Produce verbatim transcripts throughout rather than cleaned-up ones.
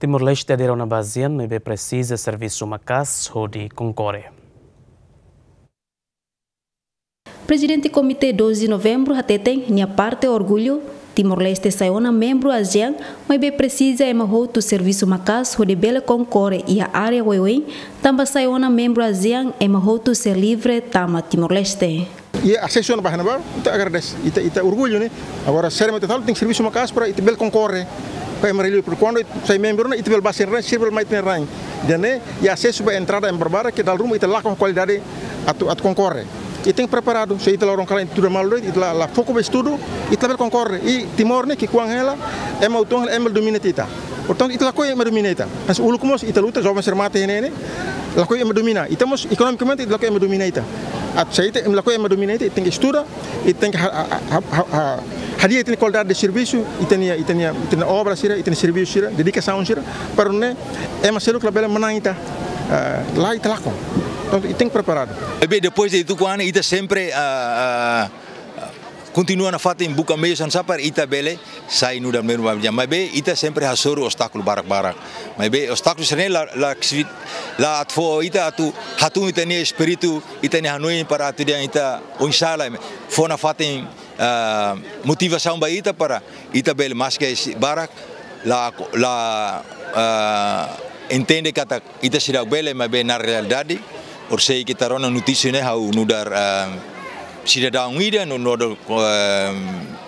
Timor-Leste adere ona ba ASEAN, maibé presiza servisu maka'as hodi konkorre. Prezidente Komité doze de Novembro hateten nia parte orgullu, Timor-Leste sai ona membru ASEAN, maibé presiza ema hotu servisu maka'as hodi bele konkorre iha área oioin, tanba sai ona membru ASEAN ema hotu sei livre tama Timor-Leste. Iha asesu ona ba ne'ebá, ita agradese, ita, ita orgullu ne'e. Agora, seriamente falando, tenke servisu maka'as para ita bele konkorre ho ema rai-li'ur, porque kuandu sai membru ne'e, ita bele bá sira-nia rain, sira bele mai ita-nia rain. Ida-ne'e, iha asesu ba entrada ema barbarak, ke dala ruma ita lakon kualidade atu, atu konkorre. Ita tenke preparadu, se ita la rona kalan ita tuda malu de'it, ita la, la foku ba estudu, ita la bele konkorre. I Timor ne'e ki'ikoan hela, ema uitoan hela, ema domina ita. Portantu, ita lakohi ema domina ita. Mas uluk mós ita luta, joven sira mate iha ne'e ne'e, lakohi ema domina. Ita mós ekonomikamente ita lakohi ema domina ita. Atu sai ita, ema lakohi ema domina ita, ita tenke estuda, ita tenke ha-, ha-, ha-, ha-, ha-, hadi'a ita-nia kualidade de servisu, ita-nia, ita-nia, ita-nia obra sira, ita-nia servisu sira, dedikasaun sira, para nune'e ema seluk labele manán ita, ah, la ita lakon. Portantu, ita tenke preparadu. Maibé depois de tuku an ne'e, ita sempre, ah, ah, kontinua nafatin buka meius hanesan para ita bele sai nu'udar membru ASEAN. Maibé ita sempre hasoru obstákulu barak-barak. Maibé obstákulu sira-ne'e la, la, la atu fó ita atu hatún ita-nia espíritu, ita-nia hanoin para atu dehan ita oinsá la fó nafatin, ah, motivasaun ba ita para ita bele maske barak la, la, ah, entende katak ita seidauk bele, maibé na realidade, orsida ita rona notísia ne'e ha'u nu'udar, ah, sidadaun ida no, no, ah,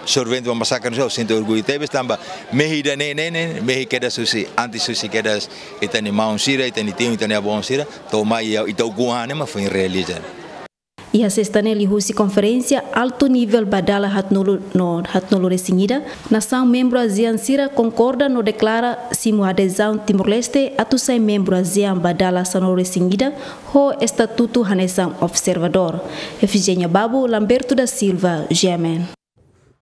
sobrevivente ba masakre ne'e, ha'u sente orgullu tebes tanba mehi ida-ne'e, ne'e, ne'e, mehi kedas husi, antes husi kedas ita-nia maun sira, ita-nia tiun, ita-nia avó sira, to'o mai iha ita ukun an ne'e mak foin realiza. Iha sesta ne'e liuhusi konferénsia altu nivel ba dala haatnulu no haatnulu-resin-ida, nasaun membru ASEAN sira konkorda no deklara simu adezaun Timor-Leste atu sai membru ASEAN ba dala sanulu-resin-ida ho estatutu hanesan observadór. Efigénia Babu, Lamberto da Silva, G M N.